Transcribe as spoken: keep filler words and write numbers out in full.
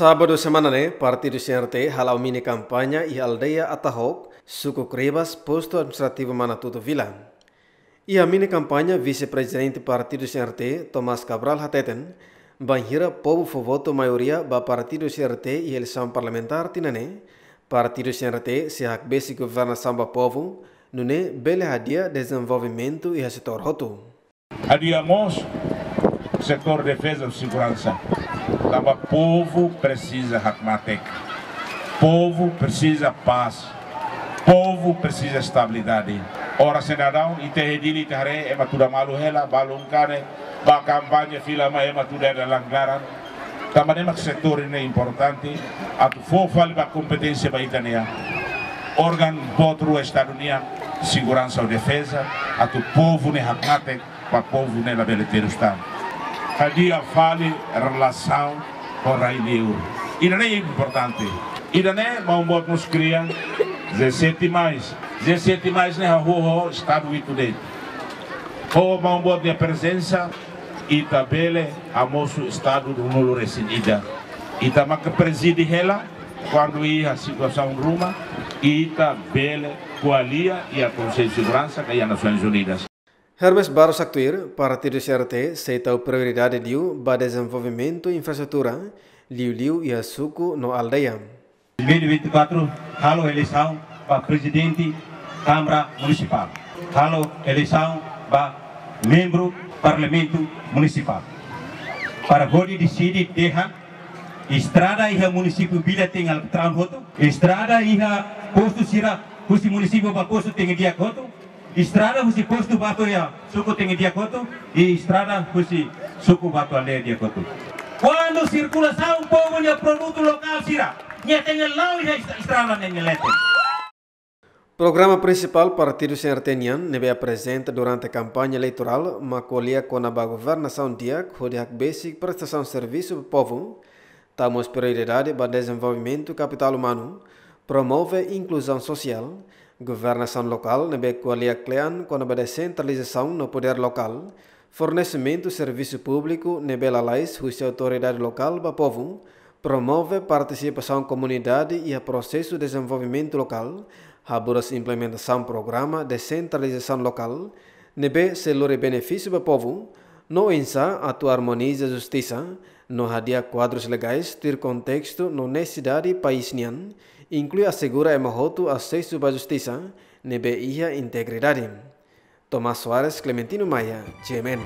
Sábadu semana ne'e, Partidu C R T hala'o mini kampaña iha aldeia Atahok, suku Kribas, postu administrativu Manatuto Vila. Iha mini kampaña, Vise-Prezidente Partidu C R T, Tomás Cabral, hateten, bainhira povu fó votu maioria ba Partidu C R T iha eleisaun parlamentár tinan ne'e, Partidu C R T sei hakbesik governasaun ba povu, nune'e bele hadi'a dezenvolvimentu iha setór hotu. Hadi'a mós setór defeza no seguransa. Tanba povu presiza hakmatek. Povu presiza pás. Povu presiza estabilidade. Oras ne'e daudaun, ita iha Dili, ita haree ema tuda malu hela, balun kanek, ba kampaña fila mai ema tuda iha dalan klaran. Tanba ne'e mak setór ne'e importante, atu fó fali ba kompeténsia ba ita-nia órgaun boot rua Estadu nian, seguransa ou defeza, atu povu ne'e hakmatek, ba povu ne'e labele terus tan. Hadi'a fali relasaun ho rai liur. Ida-ne'e importante. Ida-ne'e maun boot mós kria G sete mais. G sete mais ne'e hahú ho Estadu hitu de'it. Ho maun boot nia prezensa, ita bele hamosu Estadu ruanulu-resin-ida. Ita maka prezide hela, kuandu iha situasaun ruma, ita bele ko'alia iha Konsellu Seguransa ka iha Nasoins Unidas. Hermes Barros haktuir, Partidu C R T sei tau prioridade liu ba dezenvolvimentu infraestrutura, liuliu iha suku no aldeia. Dois mil e vinte e quatro, halo eleisaun ba Prezidente Kámara Munisipál, halo eleisaun ba membru Parlamentu Munisipál. Para hodi deside dehan estrada iha munisípiu Vila tenke alkatraun hotu, estrada iha postu sira husi munisípiu ba postu tenke di'ak hotu, estrada husi postu ba to'o iha suku tenke di'ak hotu, i estrada husi suku ba to'o aldeia di'ak hotu. Kuandu sirkulasaun povu nia produtu lokál sira, nia tenke la'o iha est-, estrada ne'e nia leten. Programa prinsipál Partidu C R T nian ne'ebé aprezenta durante kampaña eleitorál mak ko'alia kona-ba governasaun di'ak hodi hakbesik prestasaun servisu ba povu, tau mós prioridade ba dezenvolvimentu kapitál umanu, promove inkluzaun sosiál, governasaun lokál ne'ebé ko'alia kle'an kona-ba desentralizasaun no podér lokál, fornesimentu servisu públiku ne'ebé lalais husi autoridade lokál ba povu, promove partisipasaun komunidade iha prosesu dezenvolvimentu lokál, haburas implementasaun programa desentralizasaun lokál, ne'ebé sei lori benefísiu ba povu, no oinsá atu armoniza justisa, no hadi'a kuadrus legais tuir kontestu no nesesidade país nian, inklui asegura ema hotu asesu ba justisa ne'ebé iha integridade. Tomás Soares, Clementino Maia, G M N.